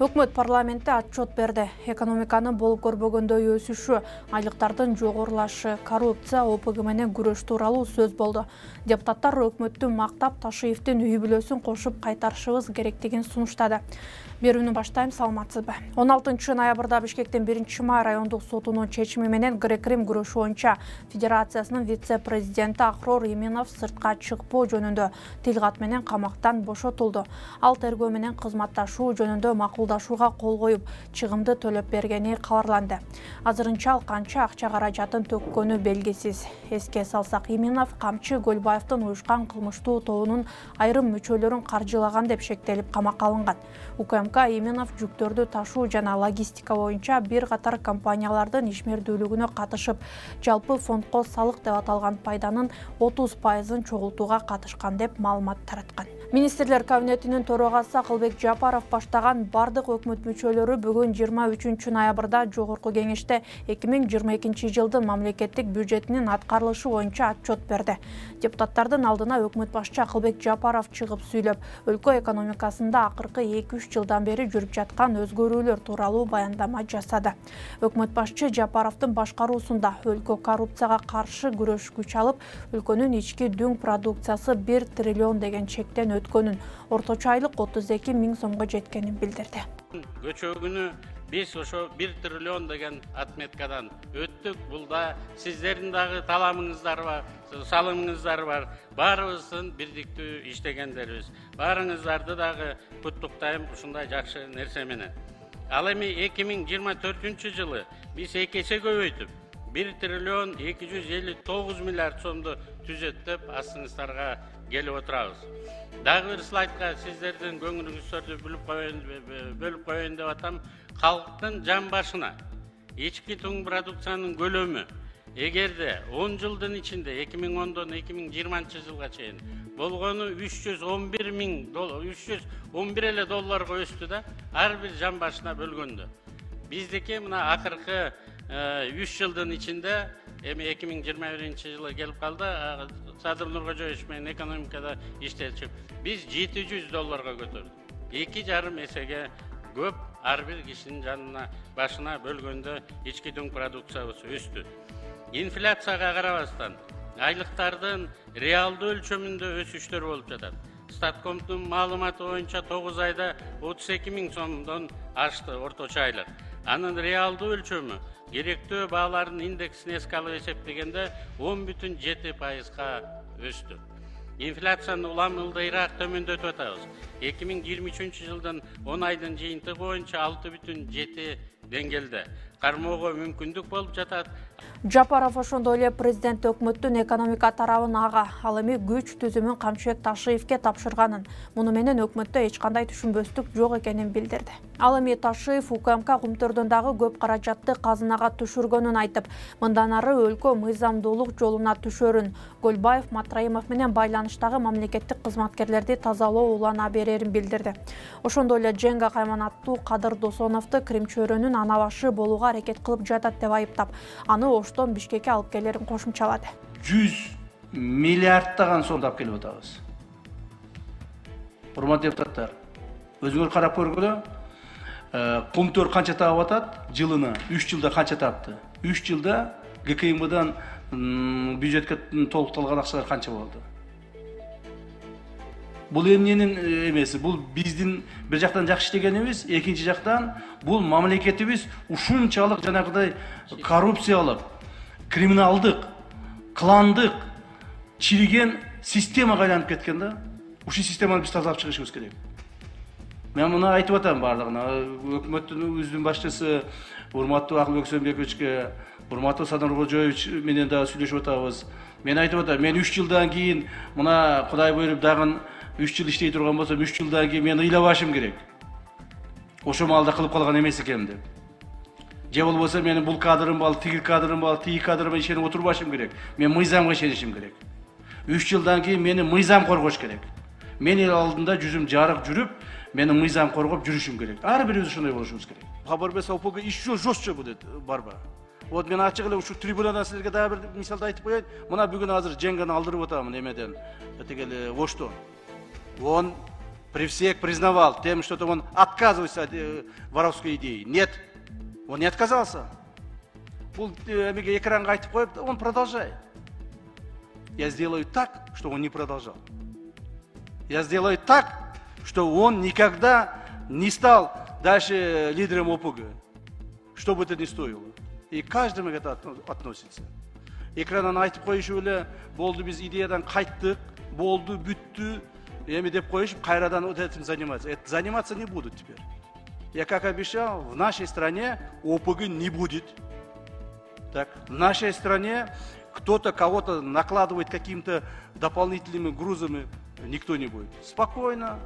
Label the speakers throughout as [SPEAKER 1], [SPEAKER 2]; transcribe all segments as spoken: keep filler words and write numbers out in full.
[SPEAKER 1] Өкмөт парламентте отчет берди. Экономиканын болуп көрбөгөндөй өсүшү, айлыктардын жогорулашы, коррупция, О П Г менен күрөш тууралуу сөз болду. Депутаттар өкмөттү мактап, Ташиевдин үй бүлөсүн кошуп кайтарышыбыз керектигин сунуштады. Берүүнү баштайм, саламатсызбы. он алтынчы ноябрда Бишкектин биринчи май райондук сотунун чечими менен Грек-Рим күрөшү боюнча Федерациясынын вице-президенти Ахрор Иминов сыртка чыкпоо жөнүндө тил кат менен камактан бошотулду. Ал тергөө менен кызматташуу жөнүндө макулдашууга кол коюп, чыгымды төлөп бергени кабарланды. Азырынча ал канча акча каражатын төккөнү белгисиз. Эске салсак, Иминов камчы Көлбаевдин уюшкан кылмыштуу тобунун айрым мүчөлөрүн каржылаган деп шектелип камакка алынган. У К М К Иминов жүктөрдү ташуу жана логистика боюнча бир катар компаниялардын ишмердүүлүгүнө катышып, жалпы фондко салык деп аталган пайданын отуз пайызын чогултууга катышкан деп маалымат тараткан. Министрлер кабинетинин төрагасы Акылбек Жапаров баштаган бардык өкмөт мүчөлөрү бүгүн жыйырма үчүнчү ноябрда Жогорку кеңеште эки миң жыйырма экинчи жылдын мамлекеттик бюджетинин аткарылышы боюнча отчет берди. Депутаттардын алдына өкмөт башчы Акылбек Жапаров чыгып сүйлөп, өлкө экономикасында акыркы эки үч жылдан бери жүрүп жаткан өзгөрүүлөр тууралуу баяндама жасады. Өкмөт башчы Жапаровдун башкаруусунда өлкө коррупцияга каршы күрөш күч алып, өлкөнүн ички дүң продукциясы бир триллион деген чектен өткөнүн, орточо айлык отуз эки миң сомго жеткенин билдирди.
[SPEAKER 2] Көчөгүнү биз ошо бир триллион деген отметкадан өттүк. Бул да сиздердин дагы таламыңыздар бар, салымыңыздар бар. Баарыбыздын бирдиктүү иштегендерибиз. Баарыңыздарды дагы куттуктайм ушундай жакшы нерсе менен. Ал эми эки миң жыйырма төртүнчү жылы биз эки эсе көбөйтүп бир триллион эки жүз элүү тогуз миллиард сомду түзөттүп астыңыздарга келип отурабыз. Дагы бир слайдка сиздердин көңүлүңүздөрдү бөлүп коеюн бөлүп коеюн деп атам. Калктын жан башына ички түң продукциянын көлөмү эгерде он жылдын ичинде эки миң ондон эки миң жыйырманчы жылга чейин болгону үч жүз он бир миң доллар, үч жүз он бир эле долларга өстү да, ар бир жан башына бөлгөндө. Биздики мына акыркы үч жылдын ичинде эми эки миң жыйырма биринчи жылы келип калды. Садыр Нуркожоевич менен экономикада иштечип, биз жети жүз долларга көтөрдүк. эки жарым эсеге көп ар бир кишинин жанына башына бөлгөндө ички дүң продукциябыз өстү. Инфляцияга карабастан айлыктардын реалдуу өлчөмүндө өсүштөр болуп жатат. Статкомдун маалыматы боюнча тогуз айда отуз эки миң сомдон ашты орточо айлык. Анын реалдуу өлчөмү керектөө баалардын индексин эске алып эсептегенде он бүтүн жети пайызга өстү. Инфляцияны улам ылдыйраак төмөндөтүп атабыз. эки миң жыйырма үчүнчү жылдын он айдын жыйынтыгы боюнча алты бүтүн жети деңгээлде кармоого мүмкүндүк болуп жатат.
[SPEAKER 1] Жапаров ошондой эле президент өкмөттүн экономика тарабын ага, ал эми күч түзүмүн Камчыбек Ташиевке тапшырганын, муну менен өкмөттө эч кандай түшүнбөстүк жок экенин билдирди. Ал эми Ташиев У К М К кумтөрдөн дагы көп каражатты казынага түшүргөнүн айтып, мындан ары өлкө мыйзамдуулук жолуна түшөрүн, Көлбаев, Матраимов менен байланыштагы мамлекеттик кызматкерлерди тазалоо улана берерин билдирди. Ошондой эле Женга Кайманаттуу Кадыр Досоновду Крим чөйрөнүн ана башы болууга аракет кылып жатат деп айыптап, аны Оштон Бишкекке алып келерин кошумчалады.
[SPEAKER 3] жүз миллиардтаган сомду алып келип атабыз. Урматтуу депутаттар, өзүңөр карап көргүлө, кумтөр канча таап атат жылына, үч жылда канча таапты? үч жылда Г К М Бдан бюджетке толукталган акчалар канча болду? Бул эмненин эмеси? Бул биздин бир жактан жакшы иштегенибиз, экинчи жактан бул мамлекетибиз ушунчалык жанагыдай коррупциялык, криминалдык, кландык, чириген системага айланып кеткен да. Ушул системаны биз тазалап чыгышыбыз керек. Мен муну айтып атам бардыгына. Өкмөттүн өзүнүн башчысы урматтуу Акылбек Сөөнбековичке, урматтуу Садыр Нуркожоевич менен дагы сүйлөшүп атабыз. Мен айтып атам, мен үч жылдан кийин мына Кудай буйруп дагы үч жыл иштей турган болсом, үч жылдан кийин мен ыйлабашым керек. Ошо маалда кылып калган эмес экенмин деп. Же болбосо менин бул кадрым бар, тиги кадрым бар, тиги кадрыма ишенип отурбашым керек. Мен мыйзамга ишенишим керек. үч жылдан кийин мени мыйзам коргош керек. Мен эл алдында жүзүм жарык жүрүп, мени мыйзам коргоп жүрүшүм керек. Ар бирибиз ошондой болушубуз керек. Кабар берсе О П Г еще жестче будет борьба. Вот мен ачык эле ушу трибунадан силерге дагы бир мисалды айтып коеюн. Мына бүгүн азыр Женганы алдырып атамын эмеден, тигил Оштон. он при всех признавал тем, что он отказывается от воровской идеи. Нет, он не отказался. Экран он продолжает. Я сделаю так, что он не продолжал. Я сделаю так, что он никогда не стал дальше лидером ОПГ. Что бы это ни стоило. И каждому это относится. Экраннан айтып коюшу эле болду, биз идеядан кайттык, болду, бүттү, эми деп коюшуп кайрадан вот этим заниматься. Это заниматься не будут теперь. Я как обещал, в нашей стране ОПГ не будет. Так, в нашей стране кто-то кого-то накладывает какими-то дополнительными грузами, никто не будет. Спокойно,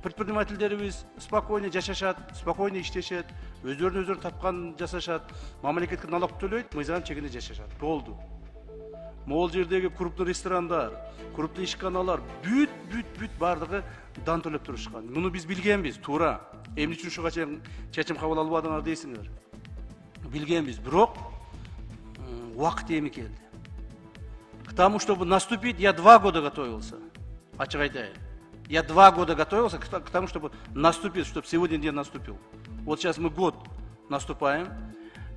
[SPEAKER 3] предпринимательдерибиз спокойно жашашат, спокойно иштешет, өздөрүнүн өздөрү тапкан жасашат, мамлекетке налог төлөйт, мыйзам чегинде жашашат. Болду. Могул жердеги крупный ресторандар, крупный ишканалар бүт бүт бүт бардыгы дан төлөп турушкан. Муну биз билгенбиз, туура. Эмне үчүн ушуга чечим кабыл албадыңар дейсиңер. Билгенбиз, бирок убакыт эми келди. К тому, чтобы наступить, я два года готовился. Ачык айтайын. Я два года готовился к тому, чтобы наступить, чтобы сегодня день наступил. Вот сейчас мы год наступаем.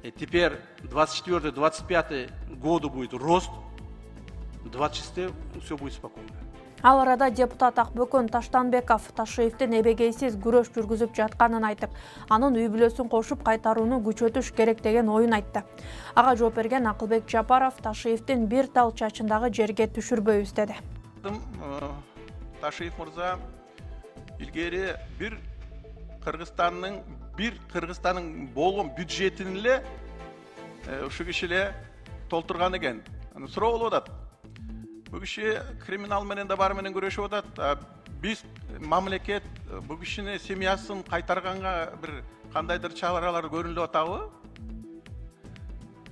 [SPEAKER 3] И теперь двадцать четвёртый двадцать пятый году будет рост. двадцать шестой все будет спокойно.
[SPEAKER 1] Ал арада депутат Акбөкөн Таштанбеков Ташиевдин эбегейсиз күрөш жүргүзүп жатканын айтып, анын үй бүлөсүн кошуп кайтарууну күчөтүш керек деген оюн айтты. Ага жооп берген Акылбек Жапаров Ташиевдин бир тал чачындагы жерге түшүрбөйбүз деди.
[SPEAKER 4] Ташиев мырза илгери бир Кыргызстандын бир Кыргызстандын болгон бюджетин эле ушу киши эле толтурган экен. Аны суроо болуп атат. Бу киши криминал менен да бар менен күрөшүп атат. Биз мамлекет бу кишини семьясын кайтарганга бир кандайдыр чаралар көрүнүп атабы?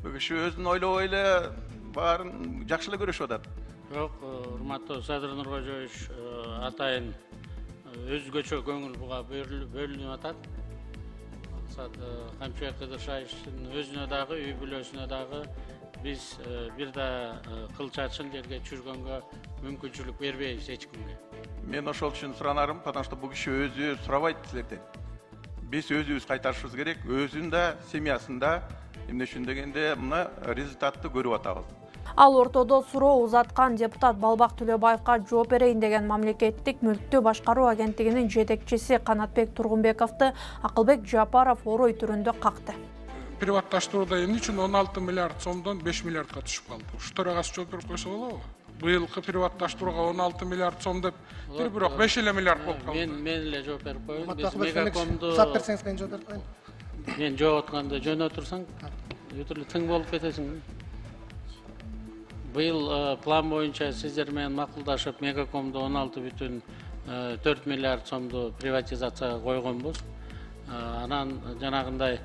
[SPEAKER 4] Бу киши өзүн ойлобой эле баарын жакшы эле көрүшүп атат.
[SPEAKER 2] Жок, урматтуу Садыр Нуркожоевич, атайын өзгөчө көңүл буга бөлүнүп атат. Камчыбек Кыдыршаевичтин өзүнө дагы, үй бүлөсүнө дагы биз бир да кыл чачын жерге түшүргөнгө мүмкүнчүлүк бербейбиз эч кимге.
[SPEAKER 4] Мен ошол үчүн суранарым, потому что бу киши өзү сурабайт силерден. Биз өзүбүз кайтарышыбыз керек, өзүн да, семьясын да, эмне үчүн дегенде мына результатты көрүп атабыз.
[SPEAKER 1] Ал ортодо суроо узаткан депутат Балбак Төлөбаевга жооп берейин деген мамлекеттик мүлктү башкаруу агенттигинин жетекчиси Канатбек Тургунбековду Акылбек Жапаров орой түрүндө какты.
[SPEAKER 5] Приватташтырууда эмне үчүн он алты миллиард сомдон беш миллиардка түшүп калды? Ушу төрагасы жооп берип койсо болобу? Быйылкы приватташтырууга он алты миллиард сом деп, бир бирок беш эле миллиард болуп калды.
[SPEAKER 2] Мен мен эле жооп берип коеюн. Биз Мегакомду
[SPEAKER 6] сап берсеңиз мен жооп берип коеюн.
[SPEAKER 2] Мен жооп атканда жөнө турсаң, өтүрлү тың болуп кетесиң. Быйыл план боюнча сиздер менен макулдашып Мегакомду он алты бүтүн төрт миллиард сомду приватизацияга койгонбуз. Анан жанагындай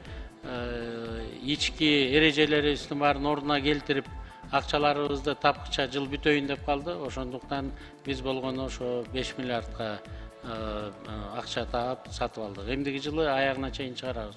[SPEAKER 2] ички эрежелерибиздин баарын ордуна келтирип, акчаларыбызды тапкыча жыл бүтөйүн деп калды. Ошондуктан биз болгону ошо беш миллиардка акча таап сатып алдык. Эмдиги жылы аягына чейин чыгарабыз.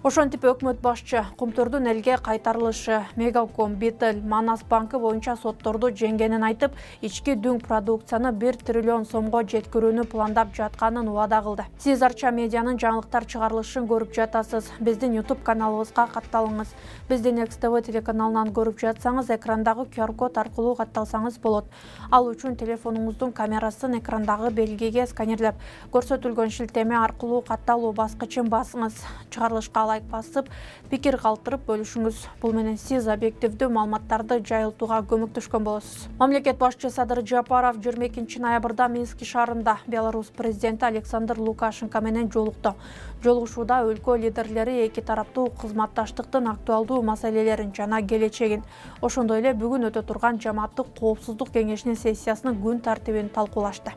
[SPEAKER 1] Ошентип өкмөт башчы Кумтөрдүн элге кайтарылышы, Мегаком, Битл, Манас банкы боюнча сотторду жеңгенин айтып, ички дүң продукцияны бир триллион сомго жеткирүүнү пландап жатканын убада кылды. Сиз Арча медианын жаңылыктар чыгарылышын көрүп жатасыз. Биздин YouTube каналыбызга катталыңыз. Биздин Экс Тэ Вэ телеканалынан көрүп жатсаңыз, экрандагы ку ар код аркылуу катталсаңыз болот. Ал үчүн телефонуңуздун камерасын экрандагы белгиге сканерлеп, көрсөтүлгөн шилтеме аркылуу катталуу баскычын басыңыз. Чыгарылышка лайк басып, пикир калтырып бөлүшүңүз. Бул менен сиз объективдүү маалыматтарды жайылтууга көмөктөшкөн болосуз. Мамлекет башчы Садыр Жапаров жыйырма экинчи ноябрда Минск шаарында Беларусь президенти Александр Лукашенко менен жолукту. Жолугушууда өлкө лидерлери эки тараптуу кызматташтыктын актуалдуу маселелерин жана келечегин, ошондой эле бүгүн өтө турган жамааттык коопсуздук кеңешинин сессиясынын күн тартибин талкуулашты.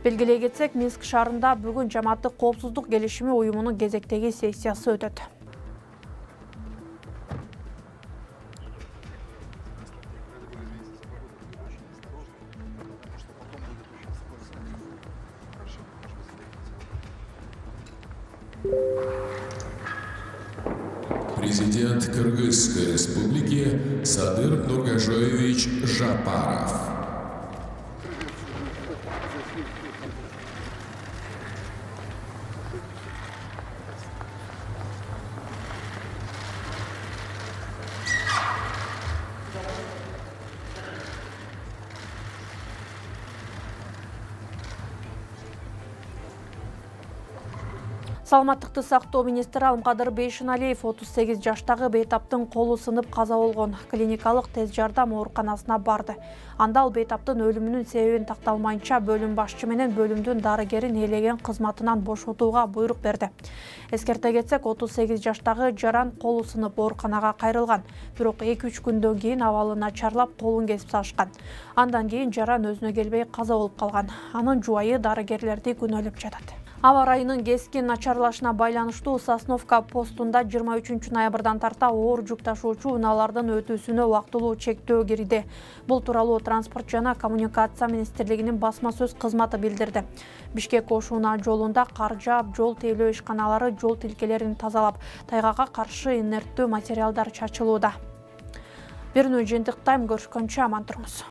[SPEAKER 1] Белгилей кетсек, Минск шаарында бүгүн жамааттык коопсуздук келишими уюмунун кезектеги сессиясы өтөт.
[SPEAKER 6] Президент Кыргызской Республики Садыр Нургажоевич Жапаров.
[SPEAKER 1] Саламаттыкты сактоо министри Алмкадыр Бейшеналиев отуз сегиз жаштагы бейтаптын колу сынып каза болгон клиникалык тез жардам ооруканасына барды. Анда ал бейтаптын өлүмүнүн себебин такталмайынча бөлүм башчы менен бөлүмдүн дарыгерин ээлеген кызматынан бошотууга буйрук берди. Эскерте кетсек, отуз сегиз жаштагы жаран колу сынып ооруканага кайрылган. Бирок эки үч күндөн кийин абалы начарлап колун кесип салышкан. Андан кийин жаран өзүнө келбей каза болуп калган. Анын жубайы дарыгерлерди күнөөлөп жатат. Аба ырайынын кескин начарлашына байланыштуу Сосновка постунда жыйырма үчүнчү ноябрдан тарта оор жүк ташуучу унаалардын өтүүсүнө убактылуу чектөө кирди. Бул тууралуу Транспорт жана коммуникация министрлигинин басма сөз кызматы билдирди. Бишкек-Ош-Унаа жолунда кар жаап, жол тейлөө ишканалары жол тилкелерин тазалап, тайгага каршы инерттүү материалдар чачылууда. Берүүнү жыйынтыктайм, көрүшкөнчө аман туруңуз.